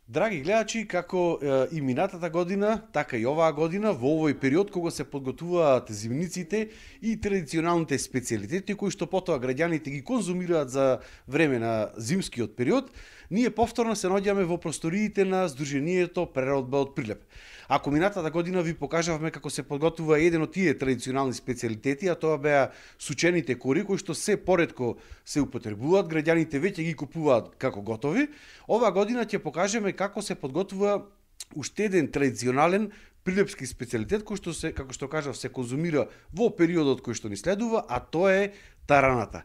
Драги гледачи, како и минатата година, така и оваа година, во овој период кога се подготвуваат зимниците и традиционалните специјалитети кои што потоа граѓаните ги конзумираат за време на зимскиот период, ние повторно се наоѓаме во просториите на Сдруженијето Преработба од Прилеп. Ако минатата година ви покажавме како се подготвува еден од тие традиционални специјалитети, а тоа беа сучените кори кои што се поретко се употребуваат, граѓаните веќе ги купуваат како готови, оваа година ќе покажеме како се подготвува уште еден традиционален прилепски специјалитет кој што се, како што кажав, се конзумира во периодот кој што ни следува, а тоа е тараната.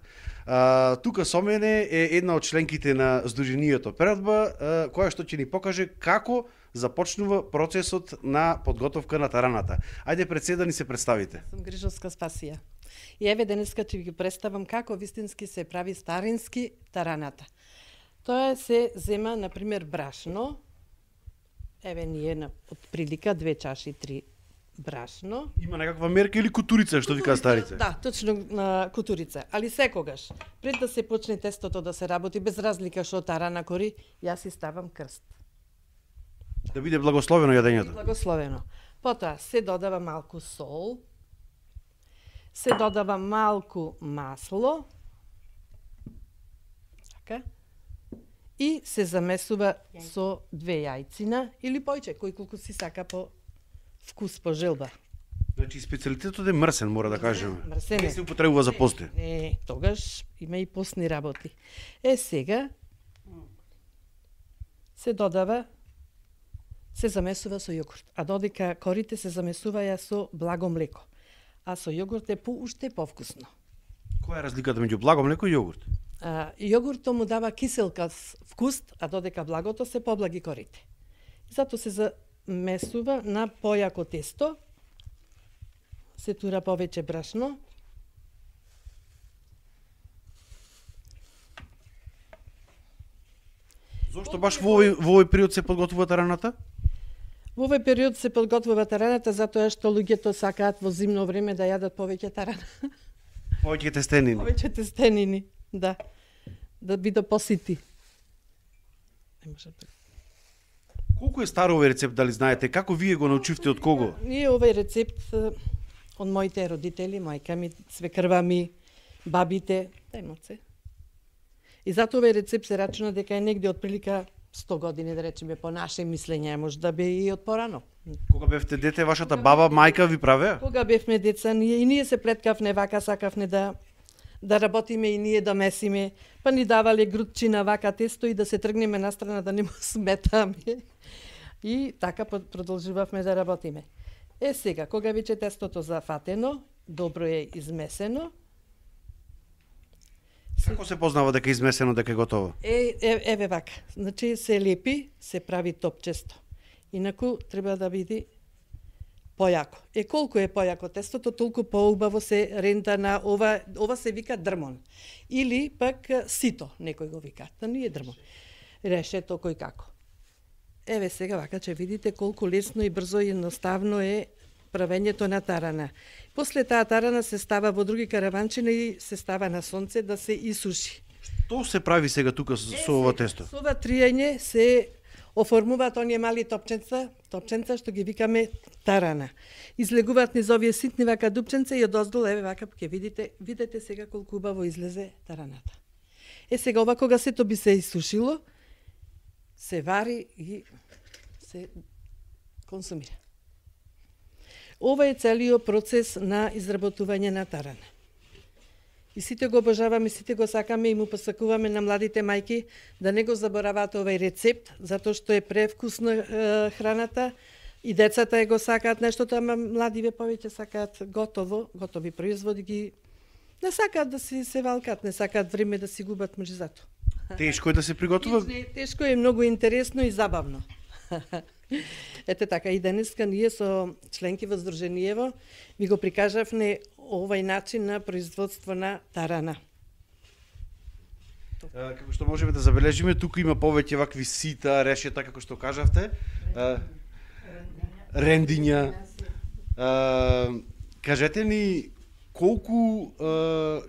Тука со мене е една од членките на Сдруженијето Преработба, која што ќе ни покаже како започнува процесот на подготовка на тараната. Ајде пред се да ни се представите. Сум Грижовска Спасија. И еве денеска ќе ви ги представам како вистински се прави старински тараната. Тоа се зема, на пример, брашно. Еве ние на отприлика 2 чаши 3 брашно. Има некаква мерка или кутурица, што вика старица? Да, точно на кутурица. Али секогаш, пред да се почне тестото да се работи, без разлика што тарана кори, јас си ставам крст. Да биде благословено јадењето. Благословено. Потоа се додава малку сол, се додава малку масло, така, и се замесува со 2 јајцина или појче, кој колку си сака по вкус, по желба. Значи специјалитетот е мрсен, мора да кажеме. Мрсен е. Не се употребува за пости. Не, тогаш има и постни работи. Сега се додава, се замесува со јогурт, а додека корите се замесуваја со благо млеко, а со јогурт е уште повкусно. Која е разликата меѓу благо млеко и јогурт? Јогуртот му дава киселка вкус, а додека благото се поблаги корите. Затоа се замесува на појако тесто, се тура повеќе брашно, Зошто баш во овој период се подготвува тараната? Во овој период се подготвува тараната затоа што луѓето сакаат во зимно време да јадат повеќе тарана. Повеќе тестенини. Повеќе тестенини, да. Да бидат посити. Не може да. Колку е стар овој рецепт, дали знаете? Како вие го научивте, од кого? Ние овој рецепт од моите родители, мајка ми, свекрва ми, бабите, тајмоце. И затоа овој рецепт се рачуна дека е негде отприлика 100 години, да речеме, по наше мислење, може да бе и од порано. Кога бевте дете, вашата баба, мајка ви правеа? Кога бевме деца, и ние се плеткавне вака, сакавне да работиме и ние да месиме, па ни давале грудчина вака тесто и да се тргнеме настрана да не му сметаме. И така продолжувавме да работиме. Сега, кога веќе тестото зафатено, добро е измесено, Како се познава дека е измесено, дека е готово? Еве вака. Значи се лепи, се прави топчесто. Инаку треба да биде појако. Колку е појако тестото, толку поубаво се рента на ова се вика дрмон. Или пак сито, некој го вика. Да не е дрмон. Решето кој како. Еве сега вака ќе видите колку лесно и брзо и едноставно е правењето на тарана. После таа тарана се става во други караванчина и се става на сонце да се исуши. Што се прави сега тука со ова тесто? Со ова триење се оформуваат оние мали топченца што ги викаме тарана. Излегуваат низ овие ситни вака дупченца и одоздол, еве вака ќе видите сега колку убаво излезе тараната. Сега ова кога сето би се исушило, се вари и се консумира. Ова е целиот процес на изработување на тарана. И сите го обожаваме, сите го сакаме и му посакуваме на младите мајки да не го забораваат овој рецепт, затоа што е превкусна храната и децата го сакаат нештото, ама младиве повеќе сакаат готови производи, ги не сакаат да се валкат, не сакаат време да си губат мржизато. Тешко е да се приготвува? Тешко е, многу интересно и забавно. Ете така, и денеска ние со членки во Сдруженијево ви го прикажавме овој начин на производство на тарана. Како што можеме да забележиме, тука има повеќе вакви сита, решета, како што кажавте. Рендиња. Кажете ни, колку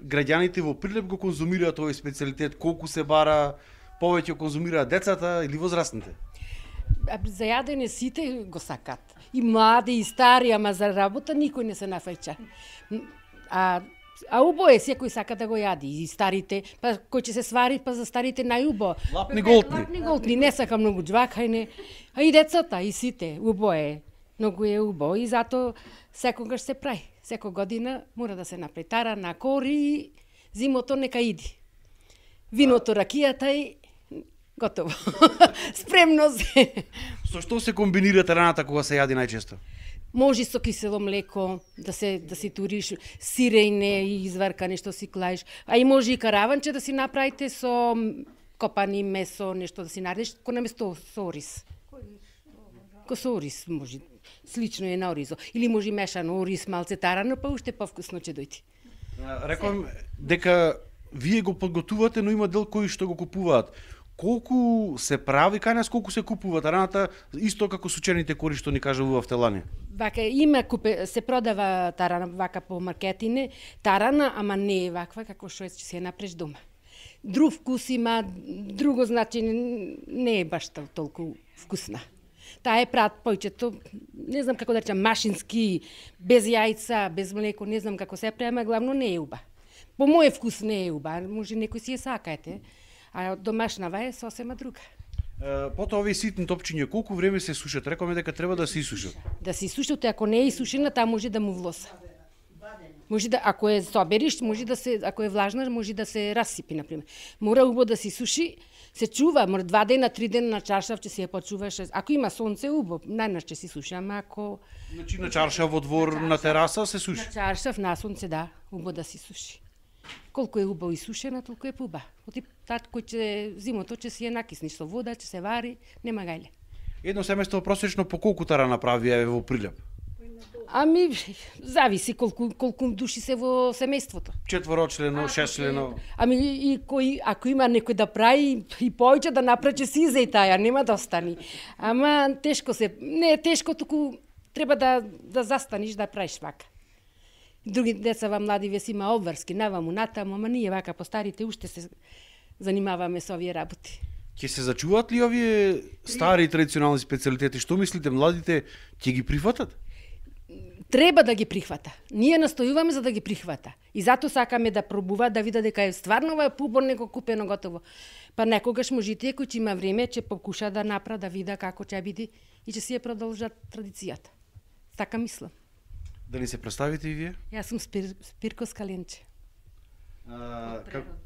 граѓаните во Прилеп го конзумираат овој специјалитет, колку се бара, повеќе конзумираат децата или возрастните? за јадење сите го сакат. И млади, и стари, ама за работа никој не се нафрча. А убо е, секој сака да го јади. И старите, па кој ќе се свари, па за старите најубо. Лапни голтни. Лапни голтни, не сака многу џвакајне. А и децата, и сите, убо е. Многу е убо и зато секогаш се прави. Секој година мора да се направи тарана, кори, зимото нека иди. Виното, ракијата и готово. Спремно се. Со што се комбинира тараната кога се јади најчесто? Може со кисело млеко, да си туриш сирејне и изварка нешто си клаиш. А и може и караванче да си направите со копани месо, нешто да си наредиш, ко наместо со ориз. Ко со ориз може. Слично е на оризо. Или може и мешано ориз, малце тарано, па уште повкусно ќе дојде. Рекувам дека вие го подготувате, но има дел кои што го купуваат. Колку се прави кај нас, колку се купува тараната, исто како сучените кори што ни кажува в Телани? Вака се продава тарана вака по маркетине, тарана, ама не е ваква како што ќе се направиш дома. Друг вкус има, друго значи не е баш толку вкусна. Таа е прат појчето, не знам како да речам, машински, без јајца, без млеко, не знам како се према, главно не е уба. По мој вкус не е уба, може некој си ја сакаете. А домашнава е сосема друга. Потоа овие ситни топчиња колку време се сушат? Рекоме дека треба да се исушат. Да се исушат, ако не е исушена, таа може да му влоса. Може да, ако е собериш, може да се, ако е влажна, може да се разсипи, например. Мора убаво да се суши, се чува, мора 2 дена, 3 дена на чаршав, ќе се ја почуваш. Ако има сонце, убаво, најнаш ќе се суши, ама ако... Значи на чаршав во двор, на тераса се суши? На чаршав, на сонце, да, убаво да се суши. Колку е убаво исушена, толку е пуба. Оти тат кој ќе зимото ќе си ја накисниш со вода, ќе се вари, нема гајле. Едно семејство просечно по колку тарана прави во Прилеп? Ами зависи колку души се во семејството. 4-члено, 6-члено. Ами и ако има некој да прави и повеќе да направи ќе си и таја, нема да остани. Ама тешко се, не е тешко, туку треба да застаниш да правиш вака. Други децава млади ве си има обврски, наваму, натаму, ама ние вака по старите уште се занимаваме со овие работи. Ќе се зачуваат ли овие стари традиционални специјалитети? Што мислите, младите ќе ги прифатат? Треба да ги прихвата. Ние настојуваме за да ги прихвата. И затоа сакаме да пробува, да видат дека е стварно ова пубор него купено готово. Па некогаш можите кој ќе има време, ќе покуша да направи, да вида како ќе биде и ќе си ја продолжат традицијата. Така мислам. Да ни се представите и вие? Јас сум Спирко Скаленче.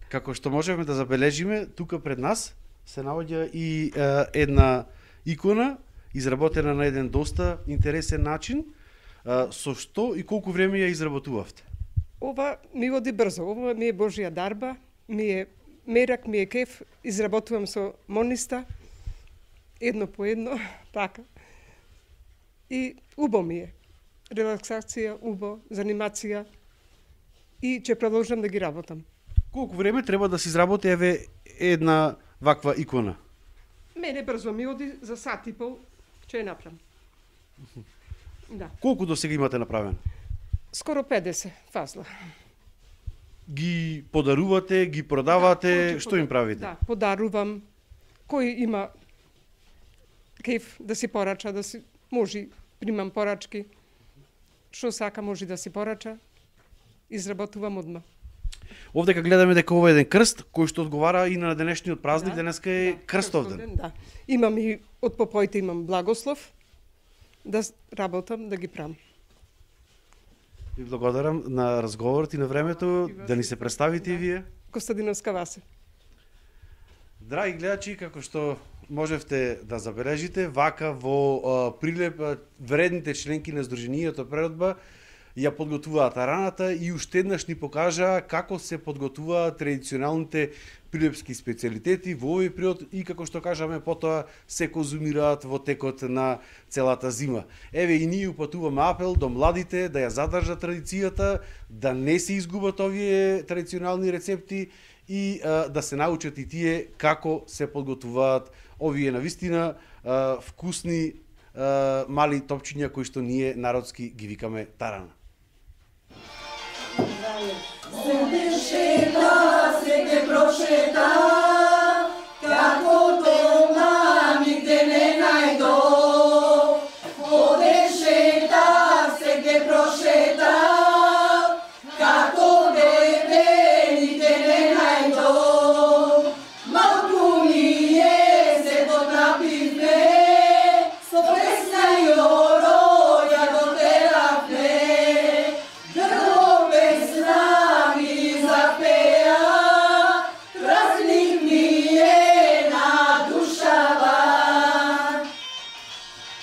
Како што можеме да забележиме, тука пред нас се наоѓа и една икона, изработена на еден доста интересен начин. Со што и колку време ја изработувавте? Ова ми оди брзо, ова ми е Божја дарба, ми е мерак, ми е кеф, изработувам со мониста, едно по едно, така. И убо ми е. Релаксација, убо, занимација и ќе продолжам да ги работам. Колку време треба да се изработи еве една ваква икона? Мене брзо ми оди, за сат и пол ќе ја направам. Да. Колку до сега имате направено? Скоро 50 фазла. Ги подарувате, ги продавате, да, што им правите? Да, подарувам. Кој има кеф да си порача, да си може примам порачки. Што сака може да си порача. Изработувам одма. Овдека гледаме дека ова е еден крст кој што одговара и на денешниот празник, денеска е крстов ден. Да. Имам и од попоите имам благослов да работам, да ги правам. Ви благодарам на разговорот и на времето, да ни се представите и вие. Костадиновска Васе. Драги гледачи, како што можевте да забележите, вака во Прилеп вредните членки на Сдруженијето Природба ја подготвуваат тараната и уште еднаш ни покажа како се подготвуваат традиционалните прилепски специјалитети во овој период и како што кажаме потоа се конзумираат во текот на целата зима. Еве и ние упатуваме апел до младите да ја задржат традицијата, да не се изгубат овие традиционални рецепти и да се научат и тие како се подготвуваат овие навистина вкусни мали топчиња кои што ние народски ги викаме тарана. Се дешета, се ке прошета, како